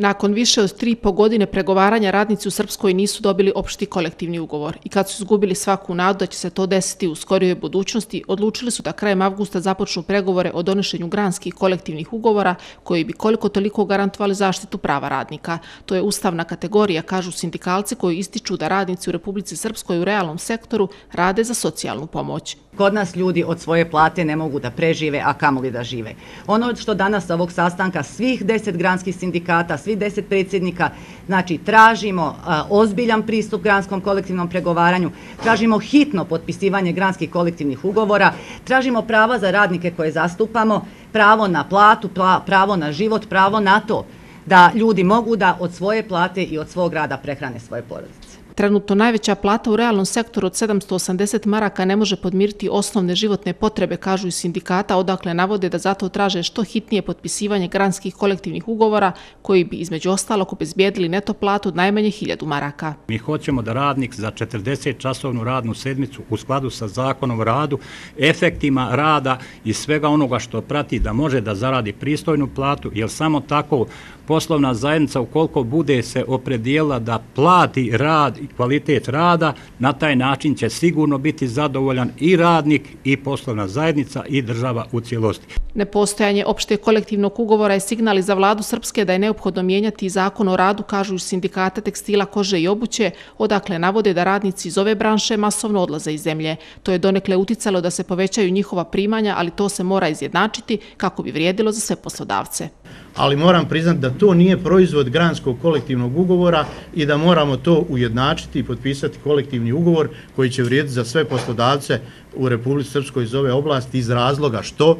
Nakon više od 3,5 godine pregovaranja radnici u Srpskoj nisu dobili opšti kolektivni ugovor i kad su izgubili svaku nadu da će se to desiti u skorijoj budućnosti, odlučili su da krajem avgusta započnu pregovore o donošenju granskih kolektivnih ugovora koji bi koliko toliko garantovali zaštitu prava radnika. To je ustavna kategorija, kažu sindikalci koji ističu da radnici u Republici Srpskoj u realnom sektoru rade za socijalnu pomoć. Kod nas ljudi od svoje plate ne mogu da prežive, a kamoli da žive. Ono što danas sa ovog sastanka svih 10 granskih sindikata, svih 10 predsjednika, znači tražimo ozbiljan pristup granskom kolektivnom pregovaranju, tražimo hitno potpisivanje granskih kolektivnih ugovora, tražimo prava za radnike koje zastupamo, pravo na platu, pravo na život, pravo na to da ljudi mogu da od svoje plate i od svog rada prehrane svoje porodice. Trenutno najveća plata u realnom sektoru od 780 maraka ne može podmiriti osnovne životne potrebe, kažu iz sindikata, odakle navode da zato traže što hitnije potpisivanje granskih kolektivnih ugovora koji bi između ostalog obezbijedili neto platu od najmanje 1000 maraka. Mi hoćemo da radnik za 40-časovnu radnu sedmicu u skladu sa zakonom o radu, efektima rada i svega onoga što prati da može da zaradi pristojnu platu, jer samo tako poslovna zajednica ukoliko bude se opredijelila da plati rad i kvalitet rada, na taj način će sigurno biti zadovoljan i radnik i poslovna zajednica i država u cijelosti. Nepostojanje opšteg kolektivnog ugovora je signal i za vladu Srpske da je neophodno mijenjati zakon o radu, kažu iz sindikata tekstila, kože i obuće, odakle navode da radnici iz ove branše masovno odlaze iz zemlje. To je donekle uticalo da se povećaju njihova primanja, ali to se mora izjednačiti kako bi vrijedilo za sve poslodavce. Ali moram priznati da to nije proizvod granskog kolektivnog ugovora i da moramo to ujednačiti i potpisati kolektivni ugovor koji će vrijediti za sve poslodavce u Republici Srpskoj iz ove oblasti iz razloga što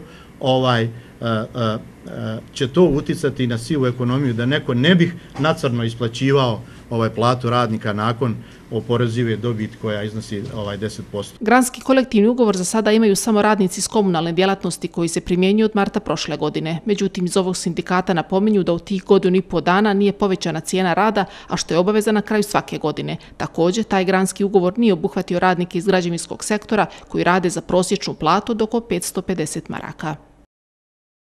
će to uticati na sivu ekonomiju, da neko ne bih nacrno isplaćivao platu radnika nakon oporezive dobiti koja iznosi 10%. Granski kolektivni ugovor za sada imaju samo radnici iz komunalne djelatnosti koji se primjenjuju od marta prošle godine. Međutim, iz ovog sindikata napominju da u tih 1,5 dana nije povećana cijena rada, a što je obaveza na kraju svake godine. Također, taj granski ugovor nije obuhvatio radnike iz građevinskog sektora koji rade za prosječnu platu od oko 550 maraka.